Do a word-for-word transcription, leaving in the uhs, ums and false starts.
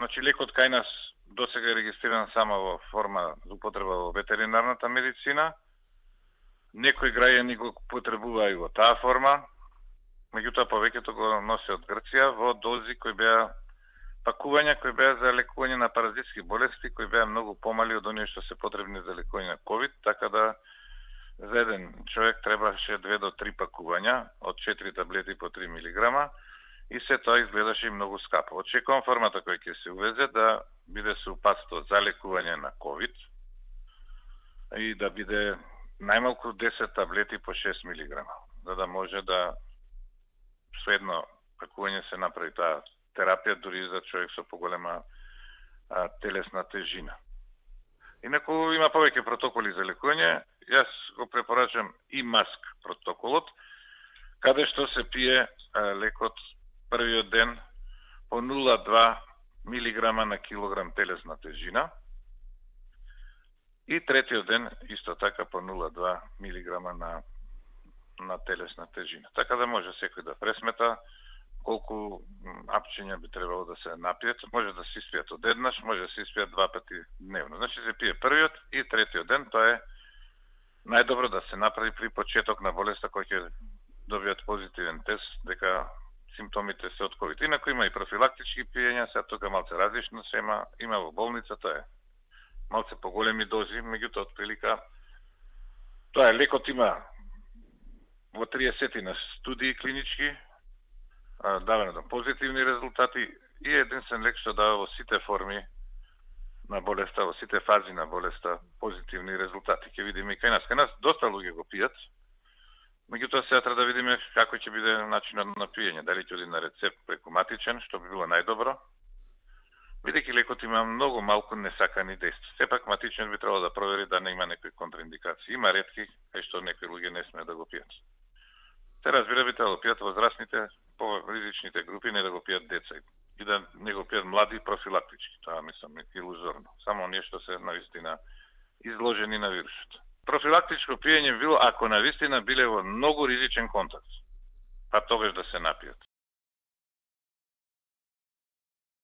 Значи, лекот кај нас досега е регистриран само во форма за употреба во ветеринарната медицина. Некои граѓани го потребуваа и во таа форма, меѓутоа повеќето го носи од Грција во дози кои беа пакувања кои беа за лекување на паразитски болести, кои беа многу помали од оние што се потребни за лекување на ковид, така да за еден човек требаше две до три пакувања од четири таблети по три милиграма и се тоа изгледаше и многу скапо. Очекувам формата која ќе се увезе да биде супатство за лекување на ковид и да биде најмалку десет таблети по шест милиграма, за да може да со едно пакување се направи таа терапија дури за човек со поголема а, телесна тежина. Инаку има повеќе протоколи за лекување. Јас го препорачам и маск протоколот, каде што се пие а, лекот првиот ден по нула целу две милиграма на килограм телесна тежина и третиот ден исто така по нула целу две милиграма на на телесна тежина. Така да може секој да пресмета колку апчиња би требало да се напијат. Може да се испијат одеднаш, може да се испијат два пати дневно. Значи се пие првиот и третиот ден, тоа е најдобро да се направи при почеток на болеста кој ќе добијат позитивен тест дека симптомите се од ковид. Инаку има и профилактички пиења, сега тука малце различно се има, има во болница, тоа е малце поголеми дози, меѓутоа од прилика тоа е лекот има во триесет на студии клинички, даване на позитивни резултати и единствен лек што дава во сите форми на болеста, во сите фази на болеста позитивни резултати. Ќе видиме и кај нас. Кај нас доста луѓе го пијат, меѓутоа сега треба да видиме како ќе биде начинот на пиење, дали ќе оди на рецепт преку матичен, што би било најдобро. Бидејќи лекот има многу малку несакани дејства. Сепак матичен би требало да провери да не има некои контраиндикации. Има ретки кај што некои луѓе не смеат да го пијат. Се разбира би требало да пијат возрастните, по ризичните групи, не да го пијат деца и да не го пијат млади профилактички. Тоа мислам илузорно. Само оние што се навистина изложени на вирусот. Профилактичко пиење било ако навистина биле во многу ризичен контакт, па тогаш да се напијат.